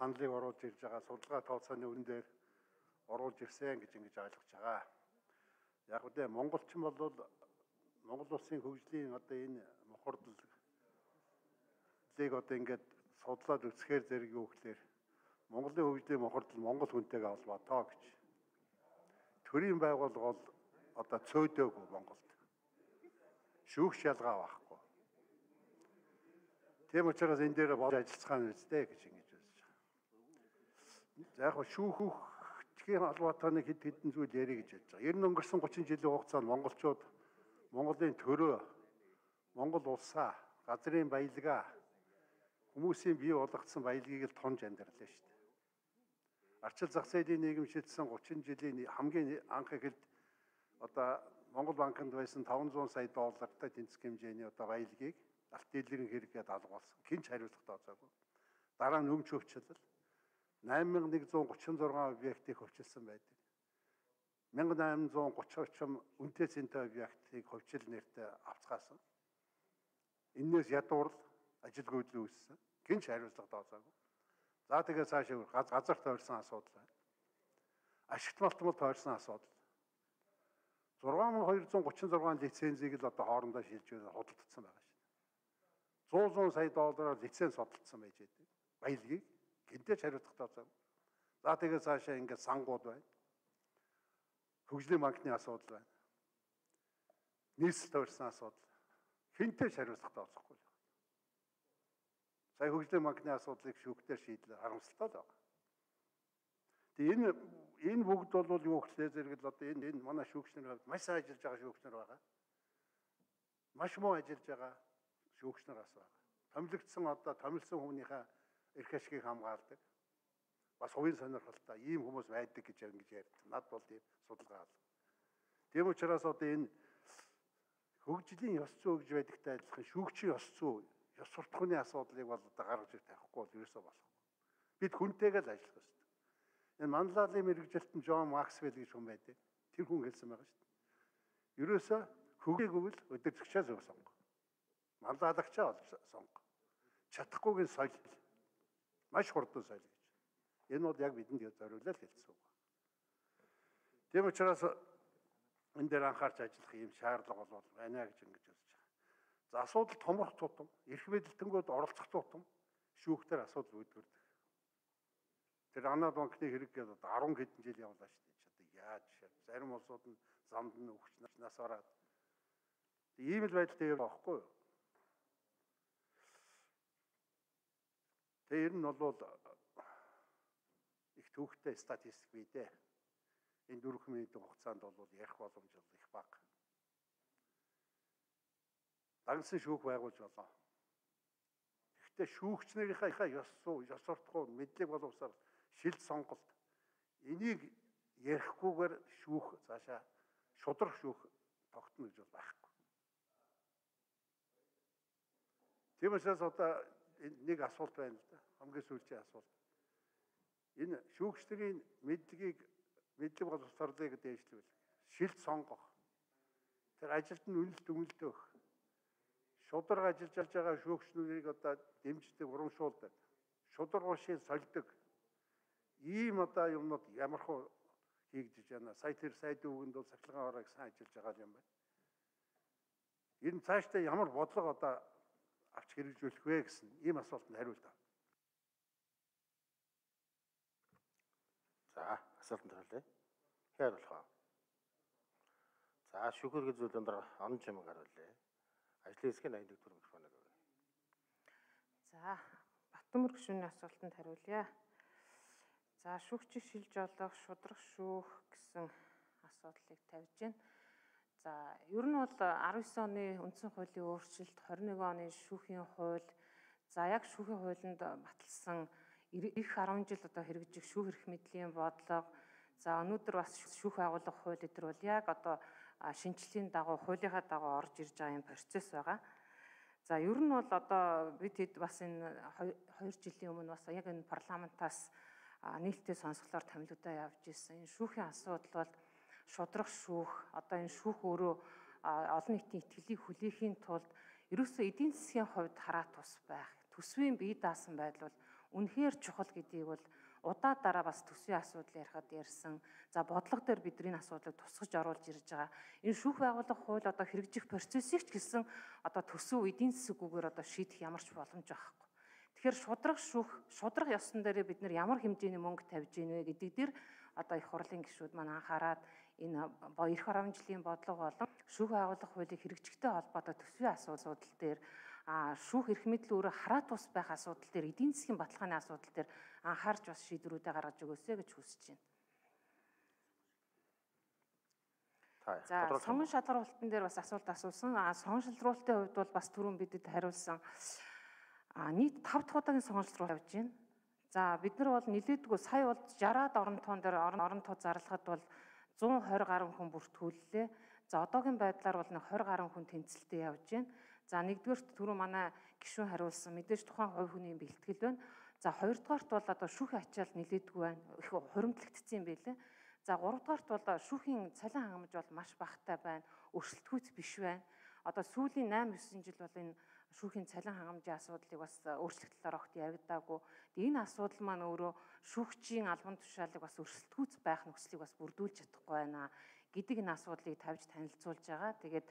саналыг оруулж ирж байгаа судалгаа тооцооны өрн дээр оруулж ирсэн гэж ингэж ойлгож байгаа. Яг үгүй монголчин бол Монгол улсын хөгжлийн одоо энэ мохордлыг одоо ингээд судлаад үзэхээр зэрэг юу гэхээр Монголын хөгжлийн мохордол Монгол хүнтэйгээ холбоотой гэж. Төрийн байгууллага бол одоо цөөдөөгүй Монголд. Шүүх шалгаа байхгүй. Тийм учраас энэ дээр болж ажиллацгаа нь үстэй гэж ингэж үзэж байгаа. За яг шүүхийн холбоотой нэг хэд хэдэн зүйл ярих гэж бодож байгаа. Ер нь өнгөрсөн 30 жилийн хугацаанд монголчууд Монголын төрөө, Монгол улсаа, газрын баялгаа, хүмүүсийн бий болгоцсон баялагийг л тонж амьдралаа шүү дээ. Арчил зах зээлийн нийгэм шилжсэн 30 жилийн хамгийн анх эхэлд одоо Монгол банкнд байсан 500 сая доллартай тэнцэх хэмжээний одоо баялагийг алт дийлэрийн хэрэггээд алгуулсан. Хинч хариуцлага тооцоогүй. Дараа нь өмч хөвчлөл 8136 объектыг хөвчилсөн байдаг. 1830 үнэтэй цэнтэй объектыг хөвчил нэртэй авцгаасан. Энээс ядуурл ажилгүйдэл үүссэн. Хинч хариуцлага тооцоогүй. За тэгээ цаашаа газар тойрсон асуудал байна. Ашигт малтмал тойрсон асуудал. 6236 лицензийг л одоо хоорондоо шилжүүлээд худалдсан байгаа шүү дээ. 100 сая доллараар лиценз судалдсан байж байдаг. Баялагийг гинтэж хариуцлага тооцоогүй. За тэгээ цаашаа ингээд сангууд байна. Хөгжлийн банкны асуудал байна. Нийслэл тойрсон асуудал. Хинтэж хариуцлага тооцохгүй. Сая хөгжлийн банкны асуудлыг шүүхтээр шийдлээ харамсалтай л байна. Тэгээ энэ бүгд бол юу гэхлээр зэрэг л одоо энэ манай шүүгчнэр хувьд маш сайн ажиллаж байгаа шүүгчнэр байгаа. Маш муу ажиллаж байгаа шүүгчнэр бас байгаа. Томилогдсон одоо томилсон хүмүүнийхээ эрх ашгийг хамгаалдаг. Бас хувийн сонирхолтой ийм хүмүүс байдаг гэж ингэж ярьдаг. Над бол тийм судалгаа алга. Тийм учраас одоо энэ хөгжлийн ёс зүй гэж байдагтай адилхан шүүгчийн ёс зүй, ёс суртахууны асуудлыг бол одоо гаргаж ирэх тавихгүй бол ерөөсөө болохгүй. Бид хүнтэйгээ л ажиллах ёстой. Энэ манлайлалын мэргэжилтэн Джон Максвелл гэж хүн байдаг. Тэр хүн хэлсэн байгаа шүү дээ. Ерөөсөө хөгжийгөө л өдөржигчээс өв сонго. Манлайлагчаа олж сонго. Чадахгүйг нь соёл. Маш хурдан соёл гэж. Энэ бол яг бидэнд зориулаад хэлсэн үг. Тийм учраас энэ дээр анхаарч ажиллах юм шаардлага бол байна гэж ингэж үзэж байгаа. За асуудал томрох тутам, эрх мэдэлтэнгүүд оролцох тутам шүүхтэр асуудал үүдгэрдэг. Тэр Ана банкны хэрэг гээд одоо 10 хэдэн жил явлаа шүү дээ. Одоо яаж зарим улсууд нь замд нь өвчнөөс ороод ийм л байдалтай яваа байхгүй юу? Тэр нь бол их төвхтэй статистик бий дээ. Энэ 4 минутын хугацаанд бол ярих боломж их бага. Дагнсан шүүх байгуулж болоо. Гэхдээ шүүгчнэрийнхээ ёс зүй, ёс суртахуун, мэдлэг боловсрол, шил сонголт энийг ярихгүйгээр шүүх цаашаа шудрах шүүх тогтно гэж бол байхгүй. Тийм учраас одоо нэг асуулт байна л да. Хамгийн сүүлийн асуулт. Энэ шүүгчдийн мэдлэг боловсролыг дээшлүүл, шилд сонгох, тэр ажилд нь үнэлт өгөх, шудраг ажиллаж байгаа шүүгчнүүдийг одоо дэмждэг, урамшуулдаг, шудраг уушийг сольдог. Ийм одоо юмнууд ямархуу хийгдэж байна. Сая дүүгэнд бол сахилгаан оройг сайн ажиллаж байгаа юм байна. Энэ цаашдаа ямар бодлого одоо авч хэрэгжүүлэх вэ гэсэн ийм асуултанд хариулт авах. За, асуултанд хариулъя. Хээр болох аа. За, шүүхэр гэж зүйл өндөр он чимэг хариулъя. Ажлын хэсгийн 81 дугаар микрофоныг өгье. За, Батмөр гүшүүний асуултанд хариулъя. За, шүүгчийг шилж олох, шудрах шүүх гэсэн асуудлыг тавьж байна. За, ер нь бол 19 оны үндсэн хуулийн өөрчлөлт, 21 оны шүүхийн хууль, за яг шүүхийн хуулинд баталсан их 10 жил одоо хэрэгжих шүүх эрх мэдлийн бодлого, за өнөөдөр бас шүүх байгуулах хууль эдгээр бол яг одоо шинжлэлийн дагуу, хуулийнхаа дагуу орж ирж байгаа юм процесс байгаа. За ер нь бол одоо бид хэд бас энэ 2 жилийн өмнө бас яг энэ парламентаас нээлттэй сонсголоор томилогдоо явж ирсэн. Энэ шүүхийн асуудал бол шудрах шүүх, одоо энэ шүүх өөрөө олон нийтийн итгэлийг хүлээхийн тулд ерөөсөө эдийн засгийн хувьд хараа тус байх, төсвийн бие даасан байдал бол үнэхээр чухал гэдгийг бол удаа дараа бас төсвийн асуудал ярихад ярьсан. За бодлого дээр бидний асуудлыг тусгаж оруулж ирж байгаа. Энэ шүүх байгууллага хууль одоо хэрэгжих процессыг ч гэсэн одоо төсөв эдийн засаггүйгээр одоо шийдэх ямар ч боломж байхгүй. Тэгэхээр шудраг ёсон дээр бид нар ямар хэмжээний мөнгө тавьж гин вэ гэдэг дээр одоо их хурлын гишүүд маань анхаарад энэ эх 10 жилийн бодлого болон шүүх байгууллага хуулийг хэрэгжихтэй холбоотой төсвийн асуудал дээр шүүх эрх мэдэл өөрөө хараат тус байх асуудал дээр эдийн засгийн баталгааны асуудал дээр анхаарч бас шийдвэрүүдээ гаргаж өгөөсэй гэж хүсэж байна. За сонгон шалгаруулалтын дээр бас асуулт асуусан. Сонгон шалгаруулалтын хувьд бол бас түрүүн бидэд хариулсан. Нийт 5 дахь удаагийн сонгон шалгаруулалт явж байна. За бид нар бол нэлээдгүй сая бол 60-аад оронтон дээр оронтоо зарлахад бол 120 гаруй хүн бүртгүүллээ. За одоогийн байдлаар бол 20 гаруй хүн тэнцэлтэд явж байна. За нэгдүгээрт түрүү манай гишүүн хариулсан мэдээж тухайн хувь хүний бэлтгэл байна. За хоёрдугаарт бол одоо шүүхийн ачаал нэлээдгүй байна. Их хуримтлагдсан юм байлээ. За гуравдугаарт бол шүүхийн цалин хангамж бол маш багатай байна. Өрсөлдөхүйц биш байна. Одоо сүүлийн 8-9 жил бол энэ шүүхийн цалин хангамжийн асуудлыг бас өөрчлөлтөөр огт яригдаагүй. Энэ асуудал маань өөрөө шүүгчийн албан тушаалыг бас өрсөлдөхүйц байх нөхцөлийг бас бүрдүүлж чадахгүй байна гэдэг энэ асуудлыг тавьж танилцуулж байгаа. Тэгээд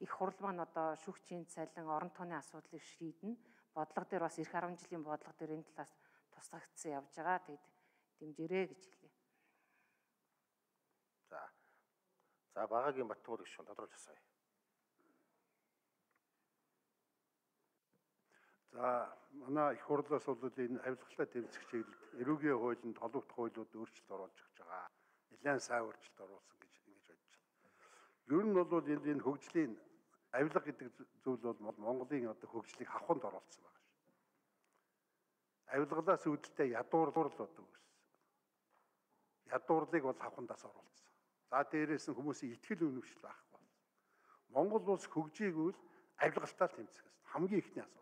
их хурл маань одоо шүүгчийн цалин, орон тооны асуудлыг шийднэ. Бодлого дээр бас эх 10 жилийн бодлого дээр энэ талаас тусгагдсан явж байгаа. Тэгээд дэмжээрэй гэж хэлье. За багаагийн Баттмөр гишүүн тодруулж асууя. За манай их хурлаас бол энэ авилгалтай тэмцэх чиглэлд эрүүгийн хуулинд холбогдох хуулиуд өөрчлөлт оруулж өгч байгаа. Нэлээд сайн өөрчлөлт оруулсан гэж бодож байна. Ер нь бол энэ хөгжлийн авилга гэдэг зүйл бол Монголын одоо хөгжлийг хавханд оруулсан байгаа шүү. Авилгалаас үүдэлтэй ядуурлал одоо үүссэн. Ядуурлыг бол хавхандаас оруулсан. За дээрээс нь хүмүүсийн итгэл үнэмшил байхгүй болсон. Монгол улс хөгжийгүүл авилгалтаа тэмцэх гэсэн хамгийн ихний асуудал.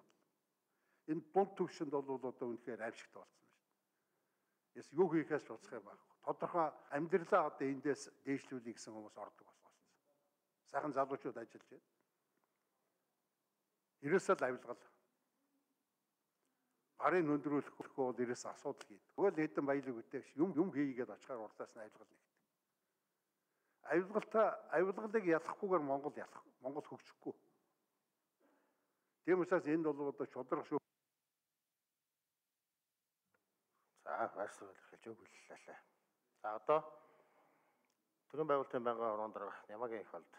Энэ дунд түвшинд бол одоо үнэхээр аимшигт болсон байна шүү. Яс юу хийхээс ч уцах юм байхгүй. Тодорхой амьдралаа одоо эндээс дээшлүүлэх гэсэн хүмүүс ордог болсон. Сайхан залуучууд ажиллаж байна. Ерөөсөө авилгал. Гарын хөндрүүлэх бол ерөөсөө асуудал хийдэг. Тэгвэл хэдэн баялаг үтээгч юм хийгээд очихаар урдаас нь авилгал нэгдэг. Авилгалыг ялахгүйгээр Монгол хөгжихгүй. Тийм учраас энд бол одоо шудраг шүү. За байрсаар хэлж өгүүллээ. За одоо төрийн байгуулалтын байнгын орон дарга Ямагийн их болд